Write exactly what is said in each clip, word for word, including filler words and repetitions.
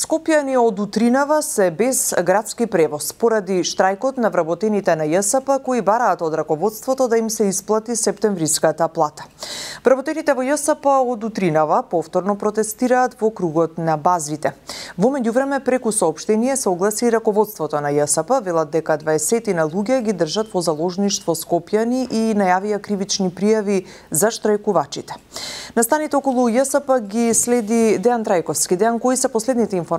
Скопјани од утринава се без градски превоз поради штрајкот на вработените на Ја С П кои бараат од раководството да им се исплати септемвриската плата. Вработените во Ја С П од утринава повторно протестираат во кругот на базите. Во меѓувреме преку соопштение се огласи раководството на Ја С П, велат дека дваесетина луѓе ги држат во заложништво Скопјани и најавија кривични пријави за штрајкувачите. Настаните околу Ја С П ги следи Дејан Трајковски. Дејан, кои се последните информации?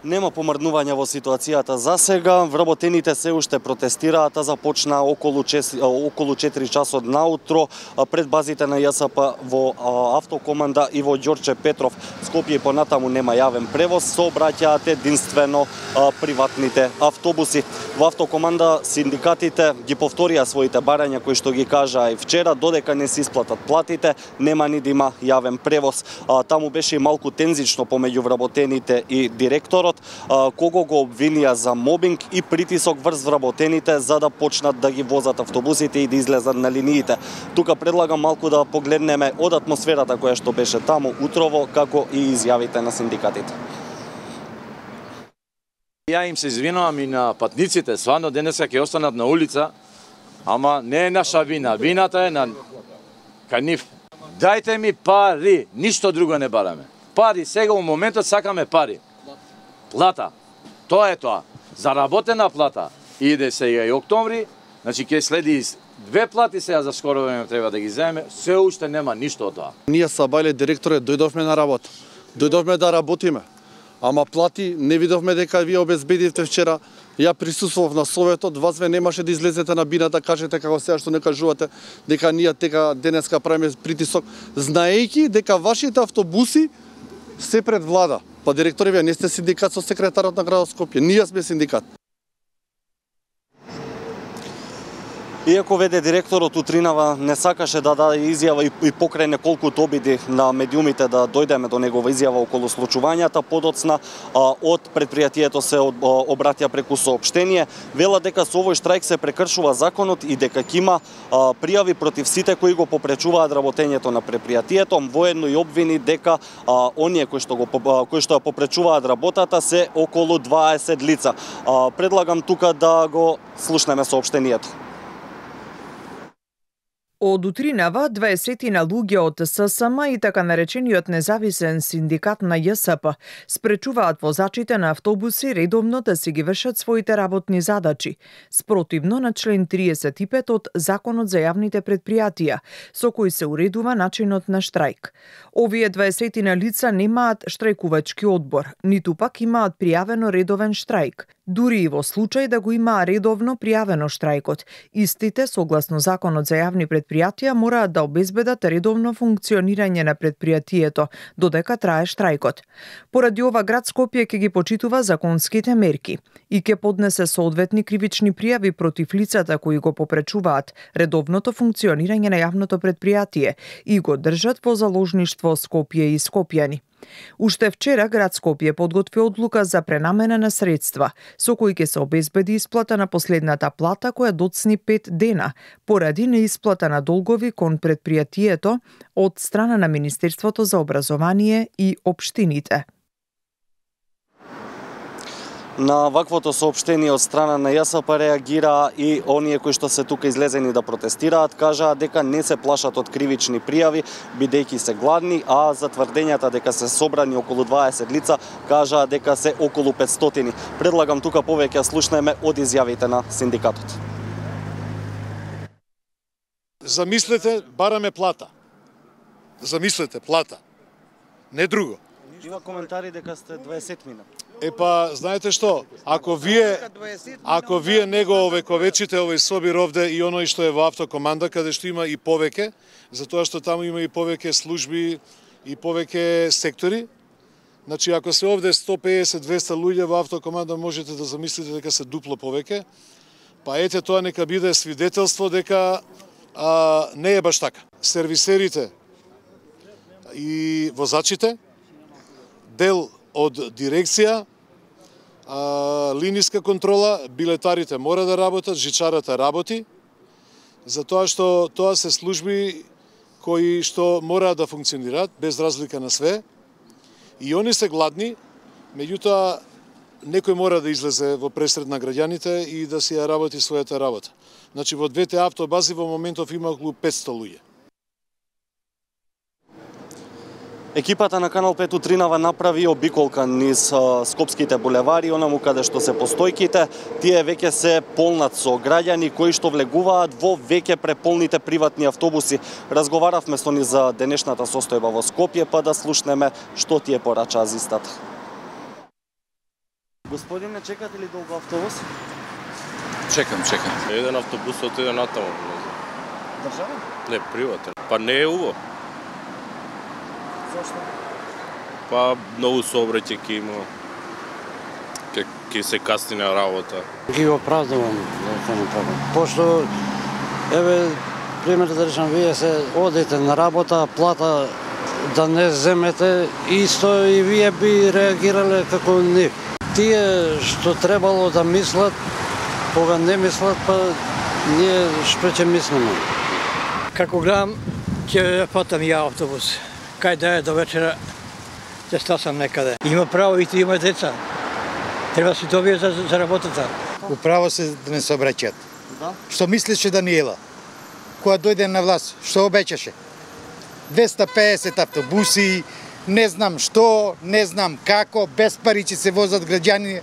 Нема помрднување во ситуацијата за сега. Вработените се уште протестираат, а започна околу околу четири часот наутро пред базите на Ја С П во Автокоманда и во Ѓорче Петров. Скопје и понатаму нема јавен превоз, сообраќаат единствено приватните автобуси. Во Автокоманда синдикатите ги повторија своите барања кои што ги кажаа и вчера, додека не се исплатат платите, нема ни да има јавен превоз. Таму беше и малку тензично помеѓу вработените и директорот, кого го обвинија за мобинг и притисок врз вработените за да почнат да ги возат автобусите и да излезат на линиите. Тука предлагам малку да погледнеме од атмосферата која што беше таму утрово, како и изјавите на синдикатите. Ја им се извинувам и на патниците, свано денеска ќе останат на улица, ама не е наша вина, вината е на кај нив. Дајте ми пари, ништо друго не бараме. Пари, сега у моментот сакаме пари. Плата. Тоа е тоа. Заработена плата. Иде сега и октомври, значи ќе следи две плати сега за скоро време треба да ги земе, се уште нема ништо од тоа. Ние са бајле директоре, дојдовме на работа. Дојдовме да работиме. Ама плати не видовме дека вие обезбедивте вчера. Ја присуствував на советот, вас ве немаше да излезете на бина да кажете како сега што не кажувате дека ние тека денеска правиме притисок, знаејќи дека вашите автобуси се пред влада. Па директори, вие не сте синдикат со секретарот на градот Скопје, ние сме синдикат. Иако веде директорот утринава не сакаше да даде изјава и покрај неколкуто обиди на медиумите да дојдеме до негова изјава околу случувањата, подоцна од предпријатието се обратија преку соопштение, вела дека со овој штрајк се прекршува законот и дека ќе има пријави против сите кои го попречуваат работењето на предпријатието, воедно и обвини дека оние кои што го кои што ја попречуваат работата се околу дваесет лица. Предлагам тука да го слушнеме соопштението. Од утринава дваесетина луѓе од С С М и така наречениот независен синдикат на Ја С П спречуваат возачите на автобуси редовно да си ги вршат своите работни задачи, спротивно на член триесет и пет од Законот за јавните предпријатија, со кој се уредува начинот на штрајк. Овие дваесетина лица немаат штрајкувачки одбор, ниту пак имаат пријавено редовен штрајк. Дури и во случај да го имаа редовно пријавено штрајкот, истите, согласно Законот за јавни предпријатија, мораат да обезбедат редовно функционирање на предпријатието, додека трае штрајкот. Поради ова, град Скопје ќе ги почитува законските мерки и ќе поднесе соодветни кривични пријави против лицата кои го попречуваат редовното функционирање на јавното предпријатие и го држат во заложништво Скопје и Скопјани. Уште вчера град Скопје подготви одлука за пренамена на средства, со кои ќе се обезбеди исплата на последната плата која доцни пет дена, поради неисплата на долгови кон предпријатието од страна на Министерството за образование и општините. На ваквото соопштение од страна на Ја С П реагира и оние кои што се тука излезени да протестираат, кажаа дека не се плашат од кривични пријави, бидејќи се гладни, а за тврдењата дека се собрани околу дваесет лица, кажаа дека се околу петстотини. Предлагам тука повеќе слушнеме од изјавите на синдикатот. Замислете, бараме плата. Замислете, плата. Не друго. Има коментари дека сте дваесет мина. Епа, знаете што, ако вие ако вие не го овековечите овој собир овде и оној што е во Автокоманда, каде што има и повеќе, затоа што таму има и повеќе служби и повеќе сектори, значи ако се овде сто песет до двесте луѓе во Автокоманда, можете да замислите дека се дупло повеќе, па ете тоа нека биде свидетелство дека а, не е баш така. Сервисерите и возачите, дел од дирекција, линиска контрола, билетарите мора да работат, жичарата работи, затоа што тоа се служби кои што мора да функционираат без разлика на све И они се гладни, меѓутоа некој мора да излезе во пресред на граѓаните и да си ја работи својата работа. Значи во двете автобази во моментов има околу петсто луѓе. Екипата на Канал пет утринава направи обиколка низ а, скопските булевари, онаму каде што се постојките. Тие веќе се полнат со граѓани кои што влегуваат во веќе преполните приватни автобуси. Разговаравме со ни за денешната состојба во Скопје, па да слушнеме што тие порачаа за истата. Господине, чекате ли долго автобус? Чекам, чекам. Еден автобус отиде натаму. Државен? Не, приватен. Па не е уво. Зошто? Па многу сообраќај ќе има. Ке, ке се касни на работа. Ги оправдувам да се направам. Пошто, еве, пример да речам, вие се одите на работа, плата да не земете, исто и вие би реагирале како нив. Тие што требало да мислат, кога не мислат, па ние што ќе мислиме. Како гледам, ќе фатам ја автобус. Кај да е до вечера, ќе стасам некаде. Има право и ти има деца. Треба си добие за, за работата. Управо се да не се обраќаат. Да? Што мислеше Даниела? Кога дојде на власт, што обеќаше? двеста и песет автобуси, не знам што, не знам како, без пари ќе се возат граѓани.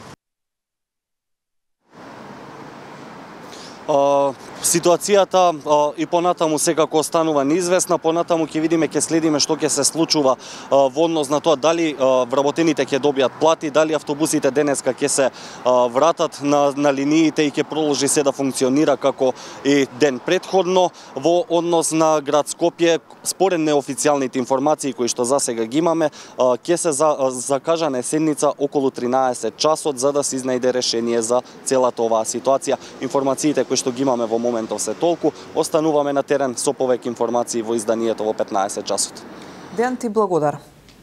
Uh, ситуацијата uh, и понатаму секако останува неизвестна, понатаму ќе видиме, ќе следиме што ќе се случува uh, во однос на тоа дали uh, вработените ќе добијат плати, дали автобусите денеска ќе се uh, вратат на, на линиите и ќе продолжи се да функционира како и ден претходно. Во однос на град Скопје, според неофицијалните информации кои што засега ги имаме, uh, ќе се за, uh, закажана седница околу тринаесет часот за да се изнајде решение за целата оваа ситуација. Информациите кои што ги имаме во моментов се толку, остануваме на терен со повеќе информации во изданието во петнаесет часот. Дејан, ти благодарам.